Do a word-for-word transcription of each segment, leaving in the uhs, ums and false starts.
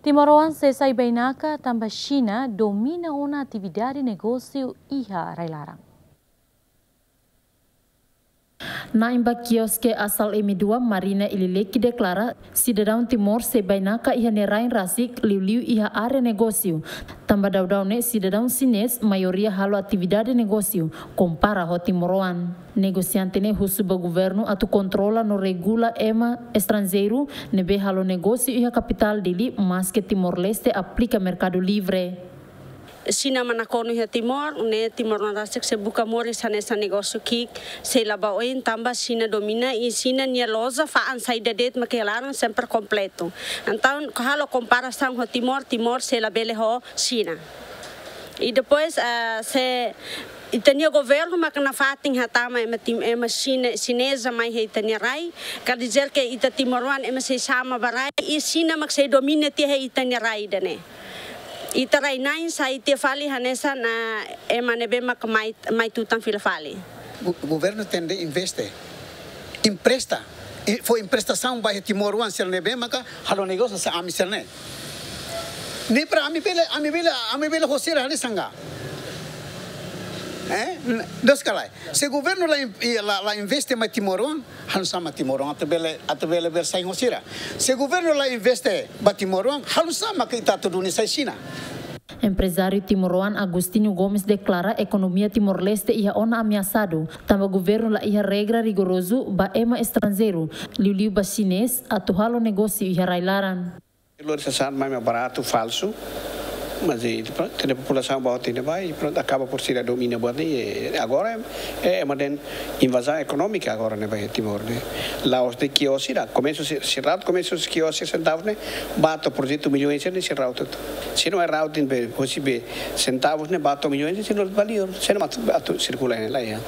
Timoroan sei sai bainaka tanba Xina domina ona atividade negósiu iha rai-laran. Na'in ba kioske Asal M dua Marina Ilileki deklara, sidadaun Timor sei bainaka iha nia rain rasik liuliu iha área negósiu. Tanba daudaun ne'e sidadaun xinés maioria halo atividade negósiu, kompara ho timoroan. Negosiante ne'e husu ba governu atu kontrola no regula ema estranjeiru ne'ebé halo negósiu iha kapitál Dili, maske Timor-Leste aplika merkadu livre. Xina mak nakonu iha Timor, ne'e timoroan rasik sei buka moris hanesan negósiu ki'ik, sei la ba oin tanba Xina domina i Xina nia loja fa'an saida de'it mak iha laran sempre kompletu. Entaun, halo komparasaun ho Timor, Timor sei labele ho Xina. I depois, ah, se ita-nia governu mak nafatin hatama ema Tim-, ema Xina, xineza mai iha ita-nia rai, quer dizer que ita timoroan ema sei xama ba rai, i Xina mak sei domina tiha iha ita-nia rai ida-ne'e. Ita rai-na'in sai tiha fali hanesan ema ne'ebé mak mai, mai tutan fila fali. Go-, governu tenke investe, empresta, i fó emprestasaun ba iha timoroan sira ne'ebé maka halo negósiu hanesan ami sira-ne'e. Ne'e para ami bele, ami bele, ami bele ho sira hanesan ka. Eh? N-, dos kalai. Se governu la in-, i la, la investe mai timoroan, halo nu'usá mak timoroan atu bele, atu bele, bele sai ho sira. Se governu la investe ba timoroan, halo nu'usá mak ita atu duni sai Xina. Emprezáriu timoroan Agostinho Gomes deklara ekonomia Timor-Leste iha ona ameasadu, tanba governu la iha regra rigorozu ba ema estranjeiru, liuliu ba xinés, atu halo negósiu iha rai-laran. Lori sasán mai mak baratu, falsu, mas i prontu, tene populasaun ba hotu ne'ebá, i prontu, akaba por sira domina buat ne'e, i agora é, é ema dehan invazaun ekonómika agora ne'e ba Timor ne'e. La'ós de'it kios sira, komesu si, sira komesu kios sira sentavus ne'e, ba to'o projetu milhões ne'e sira hotu. Se não é routing be, hosi be sentavus ne'e, ba to'o milhões ne'e, se não valor, se não atu, atu sirkula ne'e la iha.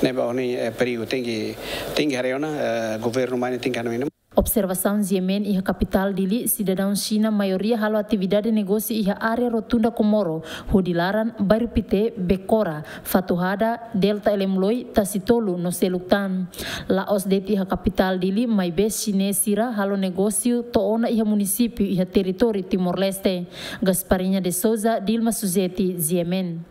Ne'ebá ne'e, eh, perigu, tenke, tenke haree ona, eh, governu mai ne'e tenke haree ona. Observasaun GMN iha kapitál Dili, sidadaun Xina maioria halo atividade negósiu iha área Rotunda Comoro, hodi laran, Bairru Pité, Becora, Fatuhada, Delta Elemloi, Tasitolu no seluk tan. La'ós de'it iha kapitál Dili, maibé xinés sira halo negósiu to'o ona iha munisípiu iha territóriu Timor-Leste. Gasparinha de Souza, Dilma Suzeti, GMN.